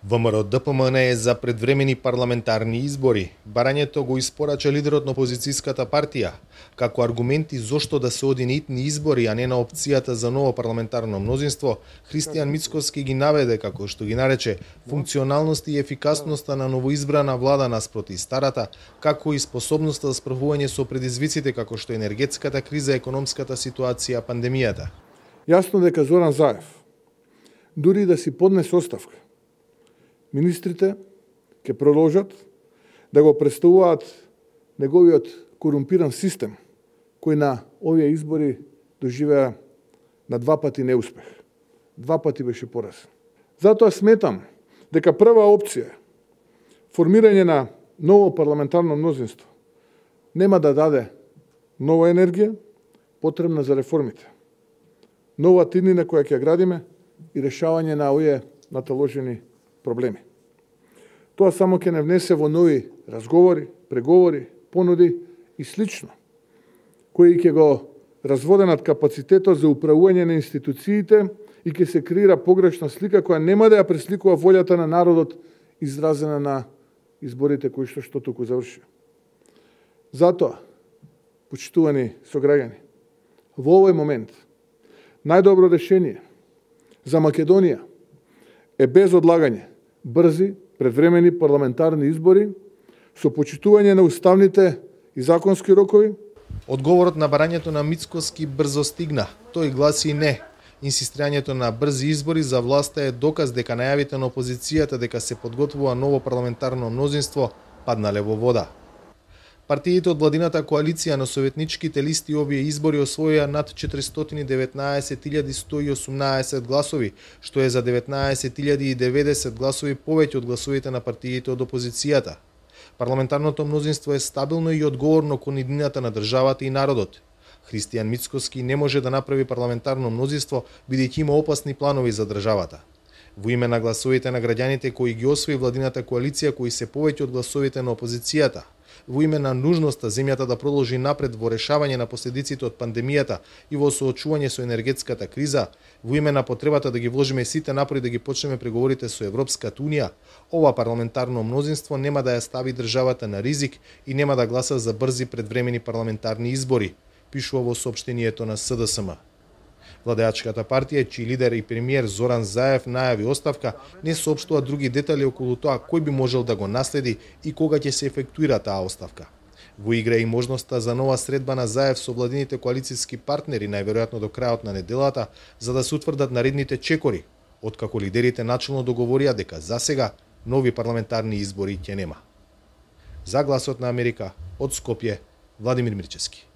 ВМРО-ДПМН е за предвремени парламентарни избори. Барањето го испорача лидерот на опозицијската партија, како аргументи зошто да се оди на итни избори, а не на опцијата за ново парламентарно мнозинство. Христијан Мицкоски ги наведе, како што ги нарече, функционалност и ефикасноста на новоизбрана влада наспроти старата, како и способноста за справување со предизвиците како што енергетската криза, економската ситуација, пандемијата. Јасно дека Зоран Заев, дури да си поднесе оставка, министрите ќе продолжат да го представуваат неговиот корумпиран систем, кој на овие избори доживеа на два пати неуспех. Два пати беше поразен. Затоа сметам дека прва опција, формирање на ново парламентарно мнозинство, нема да даде нова енергија потребна за реформите, нова тиднина која ќе градиме и решавање на овие наталожени проблеми. Тоа само ќе не внесе во нови разговори, преговори, понуди и слично, кои ќе го разводенат капацитетот за управување на институциите и ќе се креира погрешна слика која нема да ја пресликува волјата на народот изразена на изборите кои што туку заврши. Затоа, почитувани сограѓани, во овој момент најдобро решение за Македонија е без одлагање брзи, предвремени парламентарни избори со почитување на уставните и законски рокови. Одговорот на барањето на Мицкоски брзо стигна. Тој гласи не. Инсистирањето на брзи избори за власта е доказ дека најавите на опозицијата дека се подготвува ново парламентарно мнозинство паднале во вода. Партиите од владината коалиција на советничките листи овие избори освоија над 419.118 гласови, што е за 19.090 гласови повеќе од гласовите на партиите од опозицијата. Парламентарното мнозинство е стабилно и одговорно кон иднината на државата и народот. Христијан Мицкоски не може да направи парламентарно мнозинство бидејќи има опасни планови за државата. Во име на гласовите на граѓаните кои ги освои владината коалиција, кои се повеќе од гласовите на опозицијата, во име на нужноста земјата да продолжи напред во решавање на последиците од пандемијата и во соочување со енергетската криза, во име на потребата да ги вложиме сите напори да ги почнеме преговорите со Европската унија, ова парламентарно мнозинство нема да ја стави државата на ризик и нема да гласа за брзи предвремени парламентарни избори, пишува во соопштението на СДСМ. Владеачката партија, чиј лидер и премиер Зоран Заев најави оставка, не соопштува други детали околу тоа кој би можел да го наследи и кога ќе се ефектуира таа оставка. Во игра и можноста за нова средба на Заев со владините коалицијски партнери, најверојатно до крајот на неделата, за да се утврдат наредните чекори, откако лидерите начелно договорија дека засега нови парламентарни избори ќе нема. За Гласот на Америка, од Скопје, Владимир Мирчевски.